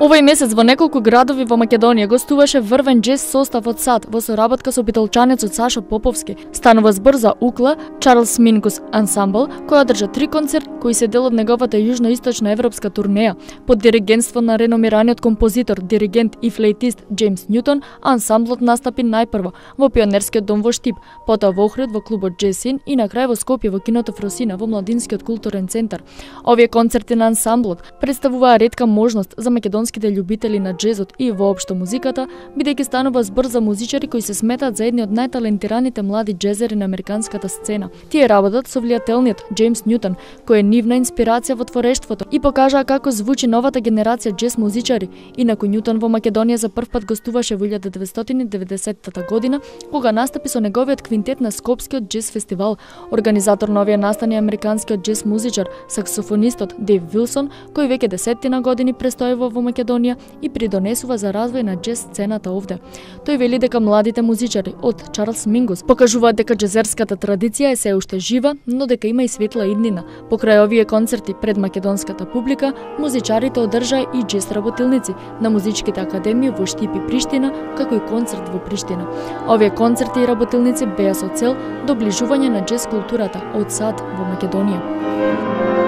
Овој месец во неколку градови во Македонија гостуваше врвен џез состав од САД во соработка со битолчанецот Сашо Поповски. Станува збор за УКЛА, Чарлс Минкус ансамбл, кој одржа 3 концерт кои се дел од неговата јужноисточна европска турнеја. Под диригентство на реномираниот композитор, диригент и флейтист Џејмс Њутон, ансамблот настапи најпрво во Пионерскиот дом во Штип, потоа во Охрид во клубот Џесин и на крај во Скопје во киното Фросина во Младинскиот културен центар. Овие концерти на ансамблот представуваа ретка можност за македонските љубители на џезот и воопшто музиката, бидејќи станува збор за музичари кои се сметаат за едни од најталентираните млади џезери на американската сцена. Тие работат со влијателниот Џејмс Њутон, кој е нивна инспирација во творештвото и покажаа како звучи новата генерација џез музичари. Инаку Њутон во Македонија за прв пат гостуваше во 1990 година, кога настапи со неговиот квинтет на Скопскиот џез фестивал. Организатор на овие настани е американскиот џез музичар, саксофонистот Дейв Вилсон, кој веќе 10 години престојува во Македонија и придонесува за развој на џез сцената овде. Тој вели дека младите музичари од Чарлс Минкус покажуваат дека џезерската традиција е се уште жива, но дека има и светла иднина. Покрај овие концерти пред македонската публика, музичарите одржаа и џез работилници на музичките академии во Штип и Приштина, како и концерт во Приштина. Овие концерти и работилници беа со цел доближување на џез културата од САД во Македонија.